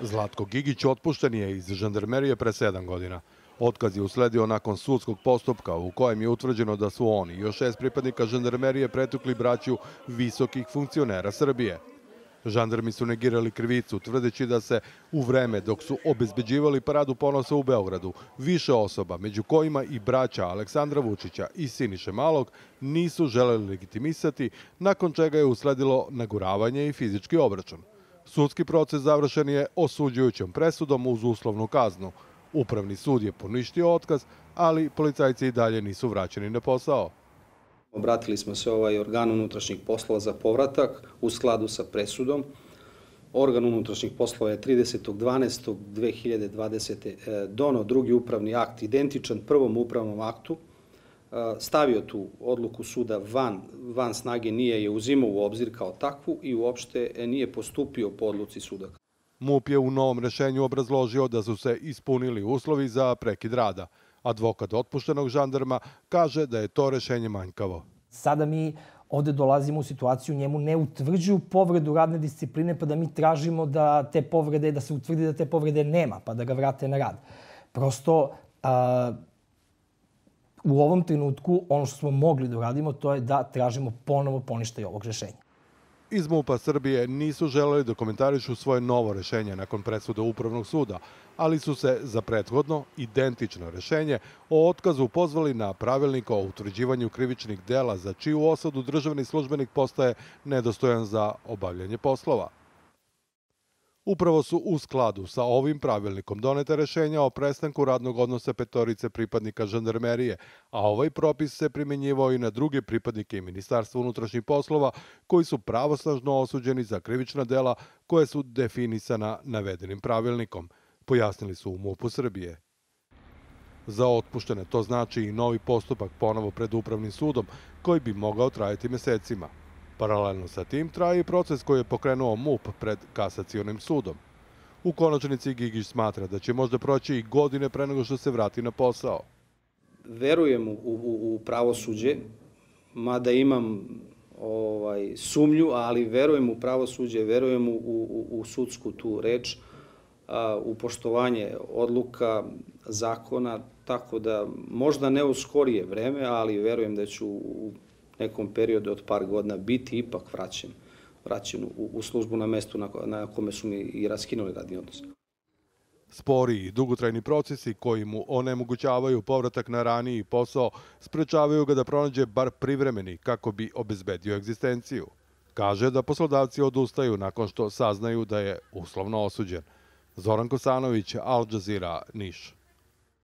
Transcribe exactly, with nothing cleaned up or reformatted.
Zlatko Gigić otpušten je iz žandarmerije pre sedam godina. Otkaz je usledio nakon sudskog postupka u kojem je utvrđeno da su oni i još šest pripadnika žandarmerije pretukli braću visokih funkcionera Srbije. Žandarmi su negirali krivicu, tvrdeći da se u vreme dok su obezbeđivali paradu ponosa u Beogradu, više osoba, među kojima i braća Aleksandra Vučića i Siniše Malog, nisu želeli legitimisati, nakon čega je usledilo naguravanje i fizički obračun. Sudski proces završen je osuđujućom presudom uz uslovnu kaznu. Upravni sud je poništio otkaz, ali policajci i dalje nisu vraćeni na posao. Obratili smo se ovaj organ unutrašnjih poslova za povratak u skladu sa presudom. Organ unutrašnjih poslova je tridesetog dvanaestog dve hiljade dvadesete. doneo drugi upravni akt identičan prvom upravnom aktu, stavio tu odluku suda van, van snage, nije je uzimao u obzir kao takvu i uopšte nije postupio po odluci suda. MUP je u novom rešenju obrazložio da su se ispunili uslovi za prekid rada. Advokat otpuštenog žandarma kaže da je to rešenje manjkavo. Sada mi ovde dolazimo u situaciju, njemu ne utvrđuju povredu radne discipline, pa da mi tražimo da te povrede, da se utvrdi da te povrede nema, pa da ga vrate na rad. Prosto, a, u ovom trenutku ono što smo mogli da uradimo, to je da tražimo ponovo poništaj ovog rešenja. Iz MUP-a Srbije nisu želeli da komentarišu svoje novo rešenje nakon presude Upravnog suda, ali su se za prethodno identično rešenje o otkazu pozvali na pravilnik o utvrđivanju krivičnih dela za čiju osudu državni službenik postaje nedostojan za obavljanje poslova. Upravo su u skladu sa ovim pravilnikom donete rešenja o prestanku radnog odnosa petorice pripadnika žandarmerije, a ovaj propis se primjenjivao i na druge pripadnike i Ministarstva unutrašnjih poslova koji su pravosnažno osuđeni za krivična dela koje su definisana navedenim pravilnikom, pojasnili su u MUP-u Srbije. Za otpuštene to znači i novi postupak ponovo pred Upravnim sudom koji bi mogao trajati mesecima. Paralelno sa tim traje i proces koji je pokrenuo MUP pred Kasacionim sudom. U konačnici Gigić smatra da će možda proći i godine pre nego što se vrati na posao. Verujem u, u, u pravosuđe, mada imam ovaj, sumnju, ali verujem u pravosuđe, verujem u, u, u sudsku tu reč, a, u poštovanje odluka, zakona, tako da možda ne u skorije vreme, ali verujem da ću u nekom periodu od par godina biti ipak vraćen, vraćen u, u službu na mestu na, na kome su mi i raskinuli radni odnos. Spori i dugotrajni procesi koji mu onemogućavaju povratak na raniji posao sprečavaju ga da pronađe bar privremeni kako bi obezbedio egzistenciju. Kaže da poslodavci odustaju nakon što saznaju da je uslovno osuđen. Zoran Kosanović, Al Jazeera, Niš.